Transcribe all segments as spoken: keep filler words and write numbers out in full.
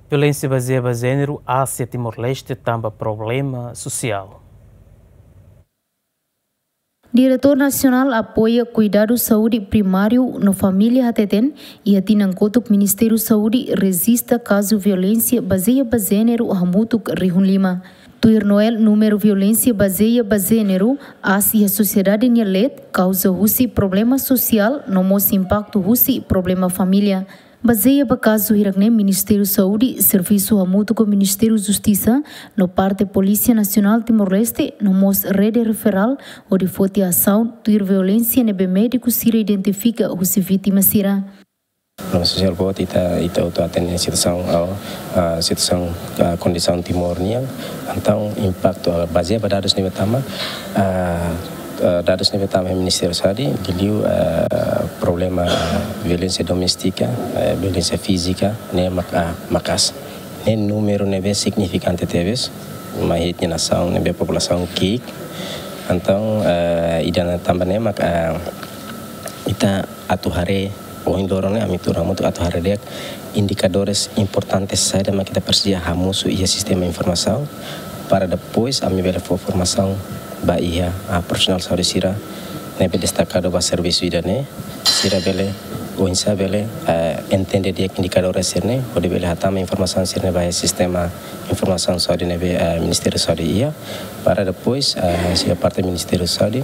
Violénsia bazeia ba jéneru aas iha Timor-Leste tanba problema sosiál. Diretór Nasionál Apoiu Kuidadu Saúde Primáriu no Família hateten, iha tinan kotuk Ministériu Saúde rejista kazu violénsia bazeia ba jéneru hamutuk rihun lima. Tuir Noel, númeru violénsia bazeia ba jéneru aas iha sosiedade nia leet kauza husi problema sosiál no mós impaktu husi problema família. Bazeia ba kazu hirak-ne'e, Ministériu Saúde servisu hamutuk ho Ministériu Justisa no parte Polísia Nasionál Timor-Leste no mós rede referál hodi foti asaun tuir violénsia ne'ebé médiku sira identifika husi vítima sira. Problema sosiál boot, ita, ita hotu hatene situasaun, ah, ah, situasaun, ah, kondisaun Timor nian. Entaun impaktu, ah, bazeia ba dadus ne'ebé tama, ah, ah, dadus ne'ebé tama iha Ministériu Saúde, liuliu, ah, problema, ah, violénsia doméstika, eh, violénsia fízika, ne'e mak-, ah, maka'as. Ne'e númeru ne'ebé signifikante tebes, mai iha ita-nia nasaun ne'ebé populasaun ki'ik. Entaun, eh, ida-ne'e tanba ne'e mak, ah, ita atu haree, ohin loron ne'e ami tuur hamutuk atu haree di'ak indikadores importantes saida mak ita presiza hamosu iha sistema informasaun, para depois ami bele fó formasaun ba iha, ah, profisionál saúde sira ne'ebé destakadu ba servisu ida-ne'e, sira bele, oinsá bele, ah, entende di'ak indikadores sira-ne'e, hodi bele hatama informasaun sira-ne'e ba iha sistema informasaun saúde ne'ebé, ah, Ministériu Saúde iha, para depois, ah, sira parte Ministériu Saúde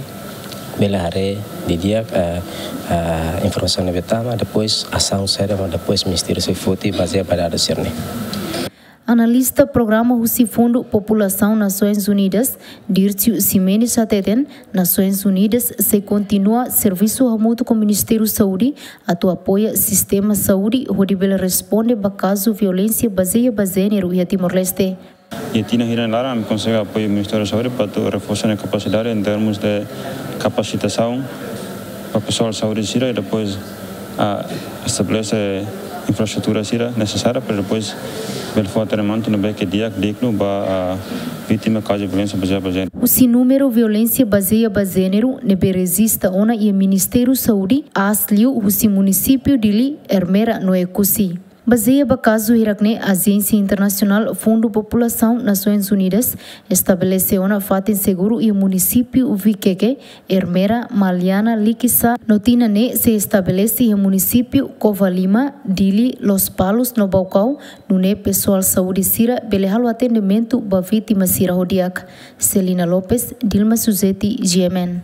bele haree didi'ak, ah, ah, informasaun ne'ebé tama, depois asaun saida mak depois Ministériu sei foti bazeia ba dadus sira-ne'e. Analista programa husi Fundu Populasaun Nasoins Unidas, Dircio Ximenes hateten, Nasoins Unidas sei kontinua servisu hamutuk ho Ministériu Saúde atu apoia sistema saúde hodi bele responde ba kazu violénsia bazeia ba jéneru iha Timor-Leste. Iha tinan hira nia laran, ami konsege apoiu Ministériu Saúde para atu reforsa nia kapasidade em termos de kapasitasaun ba pesoál saúde sira i depois, ah, estabelese infraestrutura sira nesesária para depois bele fó atendimentu ne'ebé ke di'ak, dignu ba, ah, vítima kazu violénsia bazeia ba jéneru. Husi númeru violénsia bazeia ba jéneru ne'ebé rejista ona iha Ministériu Saúde, aas liu husi munisípiu Dili, Ermera no Oekusi. Bazeia ba kazu hirak-ne'e, Ajénsia Internasionál Fundu Populasaun Nasoins Unidas estabelese ona fatin seguru iha munisípiu Vikeke, Ermera, Maliana, Likisá, no tinan ne'e sei estabelese iha munisípiu Covalima, Dili, Lospalos no Baucau, nune'e pesoál saúde sira bele halo atendimentu ba vítima sira ho di'ak. Celina Lopes, Dilma Suzeti, G M N.